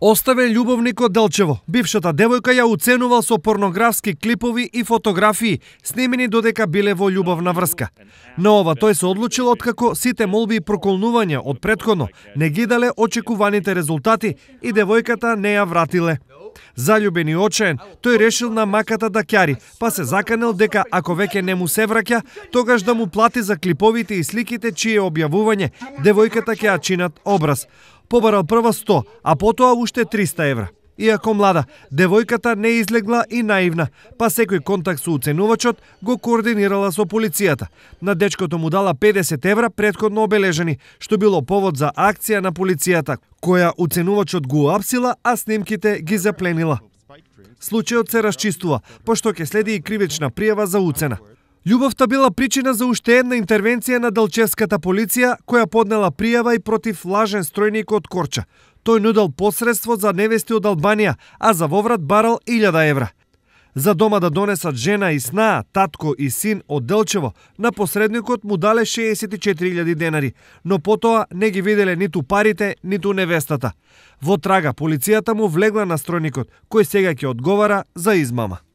Оставен љубовник од Делчево. Бившата девојка ја уценувал со порнографски клипови и фотографии, снимени додека биле во љубовна врска. На ова тој се одлучил откако сите молби и проколнувања од претходно не ги дале очекуваните резултати и девојката не ја вратиле. Заљубен и очаен, тој решил на маката да ќари, па се заканел дека ако веќе не му се враќа, тогаш да му плати за клиповите и сликите чие објавување девојката ќе ја чинат образ. Побарал прва 100, а потоа уште 300 евра. Иако млада, девојката не излегла и наивна, па секој контакт со уценувачот го координирала со полицијата. На дечкото му дала 50 евра претходно обележани, што било повод за акција на полицијата, која уценувачот го апсила, а снимките ги запленила. Случајот се расчистува, пошто ќе следи и кривична пријава за уцена. Љубовта била причина за уште една интервенција на делчевската полиција, која поднела пријава и против лажен стројник од Корча. Тој нудел посредство за невести од Албанија, а за воврат барал 1000 евра. За дома да донесат жена и снаа, татко и син од Делчево, на посредникот му дале 64.000 денари, но потоа не ги виделе ниту парите, ниту невестата. Во трага, полицијата му влегла на стројникот, кој сега ќе одговара за измама.